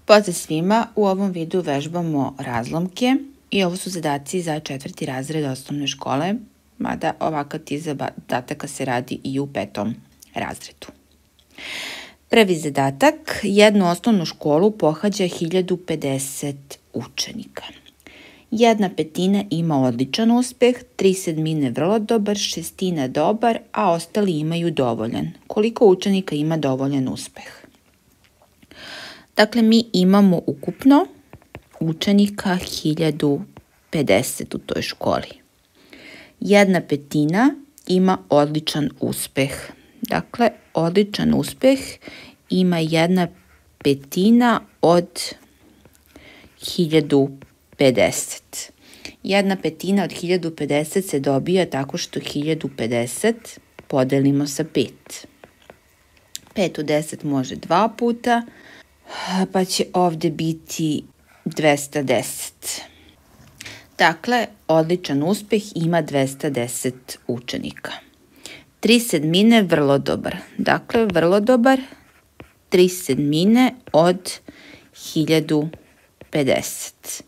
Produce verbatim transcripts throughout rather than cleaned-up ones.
Pozdrav svima, u ovom videu vežbamo razlomke i ovo su zadaci za četvrti razred osnovne škole, mada ovakav tip zadataka se radi i u petom razredu. Prvi zadatak, jednu osnovnu školu pohađa hiljadu pedeset učenika. Jedna petina ima odličan uspeh, tri sedmine vrlo dobar, šestina dobar, a ostali imaju dovoljan. Koliko učenika ima dovoljan uspeh? Dakle, mi imamo ukupno učenika hiljadu pedeset u toj školi. Jedna petina ima odličan uspeh. Dakle, odličan uspeh ima jedna petina od hiljadu pedeset. Jedna petina od hiljadu pedeset se dobija tako što hiljadu pedeset podelimo sa pet. pet u deset može dva puta, pa će ovde biti dvesta deset. Dakle, odličan uspeh ima dvesta deset učenika. tri sedmine vrlo dobar. Dakle, vrlo dobar, tri sedmine od hiljadu pedeset.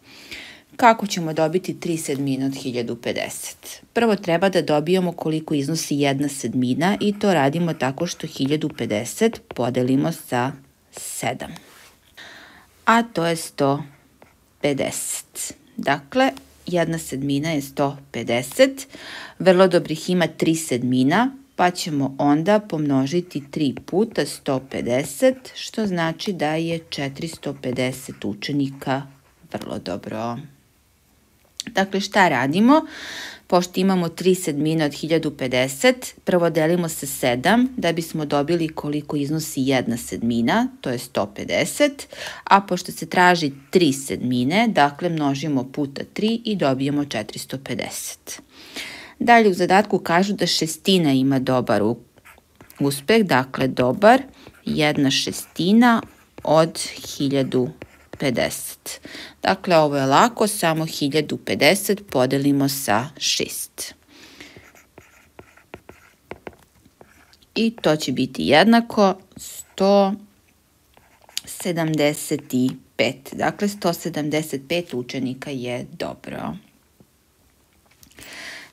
Kako ćemo dobiti tri sedmine od hiljadu pedeset? Prvo treba da dobijemo koliko iznosi jedna sedmina i to radimo tako što hiljadu pedeset podelimo sa sedam. A to je sto pedeset. Dakle, jedna sedmina je sto pedeset. Vrlo dobrih ima tri sedmina, pa ćemo onda pomnožiti tri puta sto pedeset, što znači da je četiristo pedeset učenika vrlo dobro. Dakle, šta radimo? Pošto imamo tri sedmine od hiljadu pedeset, prvo delimo sa sedam da bismo dobili koliko iznosi jedna sedmina, to je sto pedeset, a pošto se traži tri sedmine, dakle množimo puta tri i dobijemo četiristo pedeset. Dalje u zadatku kažu da šestina ima dobar uspeh, dakle dobar, jedna šestina od hiljadu pedeset. Dakle, ovo je lako, samo hiljadu pedeset podelimo sa šest. I to će biti jednako sto sedamdeset pet. Dakle, sto sedamdeset pet učenika je dobro.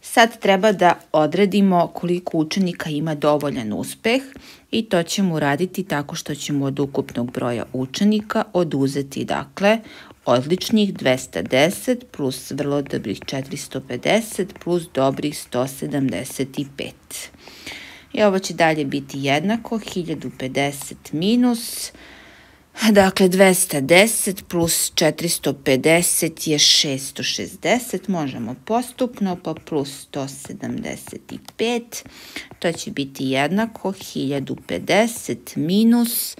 Sad treba da odredimo koliko učenika ima dovoljan uspeh i to ćemo uraditi tako što ćemo od ukupnog broja učenika oduzeti, dakle, odličnih dvesta deset plus vrlo dobrih četiristo pedeset plus dobrih sto sedamdeset pet. I ovo će dalje biti jednako, hiljadu pedeset minus, dakle, dvesta deset plus četiristo pedeset je šesto šezdeset, možemo postupno, pa plus sto sedamdeset pet, to će biti jednako, hiljadu pedeset minus,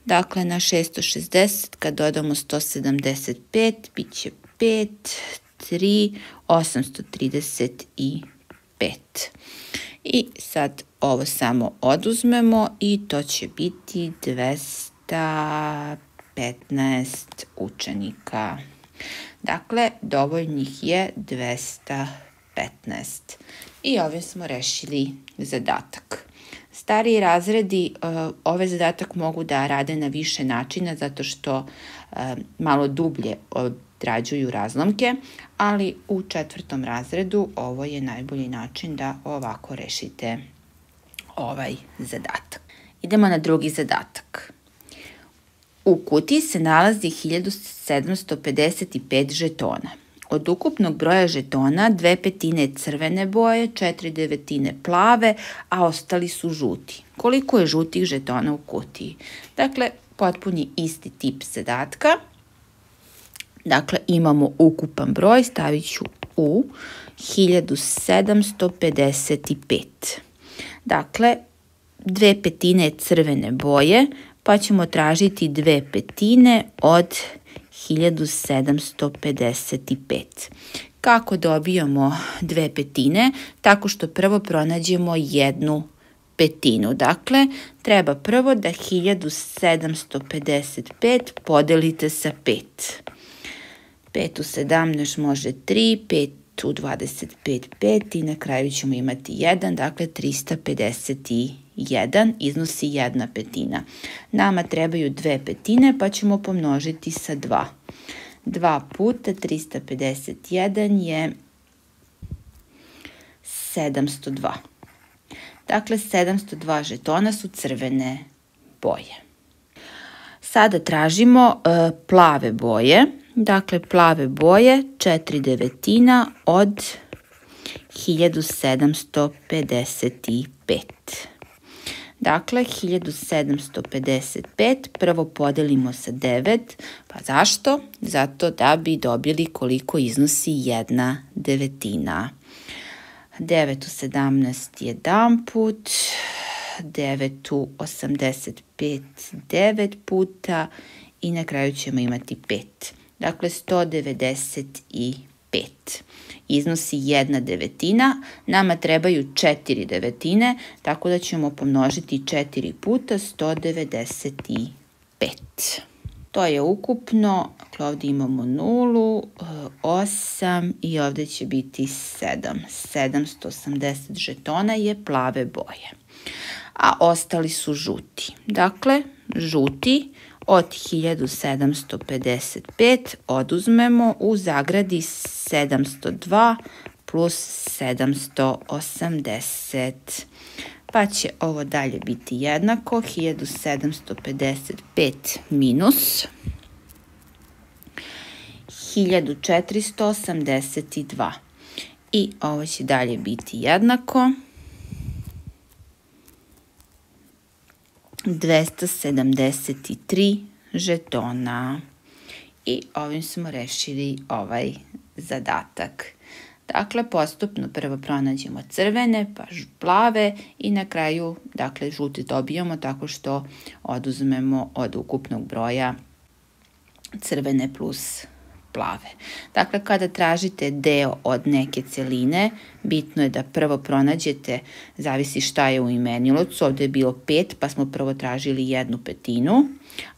dakle, na šesto šezdeset kad dodamo sto sedamdeset pet, bit će pet, tri, osamsto trideset pet. I sad ovo samo oduzmemo i to će biti dvesta petnaest učenika. Dakle, dovoljnih je dvesta petnaest. I ovim smo rešili zadatak. Stariji razredi uh, ovaj zadatak mogu da rade na više načina zato što uh, malo dublje odrađuju razlomke, ali u četvrtom razredu ovo je najbolji način da ovako rešite ovaj zadatak. Idemo na drugi zadatak. U kutiji se nalazi hiljadu sedamsto pedeset pet žetona. Od ukupnog broja žetona dve petine crvene boje, četiri devetine plave, a ostali su žuti. Koliko je žutih žetona u kutiji? Dakle, potpuni isti tip zadatka. Dakle, imamo ukupan broj, stavit ću u hiljadu sedamsto pedeset pet. Dakle, dve petine crvene boje, pa ćemo tražiti dve petine od hiljadu sedamsto pedeset pet. Kako dobijamo dve petine? Tako što prvo pronađemo jednu petinu. Dakle, treba prvo da hiljadu sedamsto pedeset pet podelite sa pet. pet u sedamnaest može tri, pet u dvadeset pet, pet i na kraju ćemo imati jedan, dakle trista pedeset jedan iznosi jedna petina. Nama trebaju dve petine pa ćemo pomnožiti sa dva. dva puta trista pedeset jedan je sedamsto dva. Dakle, sedamsto dva žetona su crvene boje. Sada tražimo e, plave boje. Dakle, plave boje četiri devetina od hiljadu sedamsto pedeset pet. Dakle, hiljadu sedamsto pedeset pet prvo podelimo sa devet. Pa zašto? Zato da bi dobili koliko iznosi jedna devetina. devet u sedamnaest jedan put, devet u osamdeset pet devet puta i na kraju ćemo imati pet. Dakle, sto devedeset pet. Iznosi jedna devetina, nama trebaju četiri devetine, tako da ćemo pomnožiti četiri puta sto devedeset pet. To je ukupno, dakle ovdje imamo nulu, osam i ovdje će biti sedam. sedamsto osamdeset žetona je plave boje, a ostali su žuti. Dakle, žuti od hiljadu sedamsto pedeset pet oduzmemo u zagradi sedamsto dva plus sedamsto osamdeset. Pa će ovo dalje biti jednako hiljadu sedamsto pedeset pet minus hiljadu četiristo osamdeset dva. I ovo će dalje biti jednako dvesta sedamdeset tri žetona. I ovim smo rešili ovaj zadatak. Dakle, postupno prvo pronađemo crvene, pa plave i na kraju, dakle, žute dobijamo tako što oduzmemo od ukupnog broja crvene plus plave. Dakle, kada tražite deo od neke celine, bitno je da prvo pronađete, zavisi šta je u imenilacu, ovdje je bilo pet, pa smo prvo tražili jednu petinu,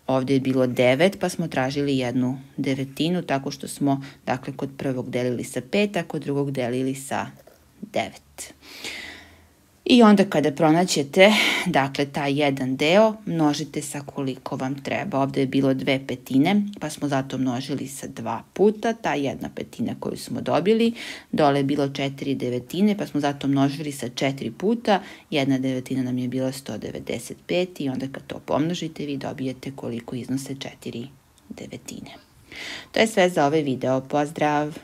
ovdje je bilo devet, pa smo tražili jednu devetinu, tako što smo, dakle, kod prvog delili sa pet, a kod drugog delili sa devet. I onda kada pronađete, dakle, taj jedan deo, množite sa koliko vam treba. Ovdje je bilo dve petine, pa smo zato množili sa dva puta, ta jedna petina koju smo dobili. Dole je bilo četiri devetine, pa smo zato množili sa četiri puta. Jedna devetina nam je bila sto devedeset pet i onda kad to pomnožite, vi dobijete koliko iznose četiri devetine. To je sve za ovaj video. Pozdrav!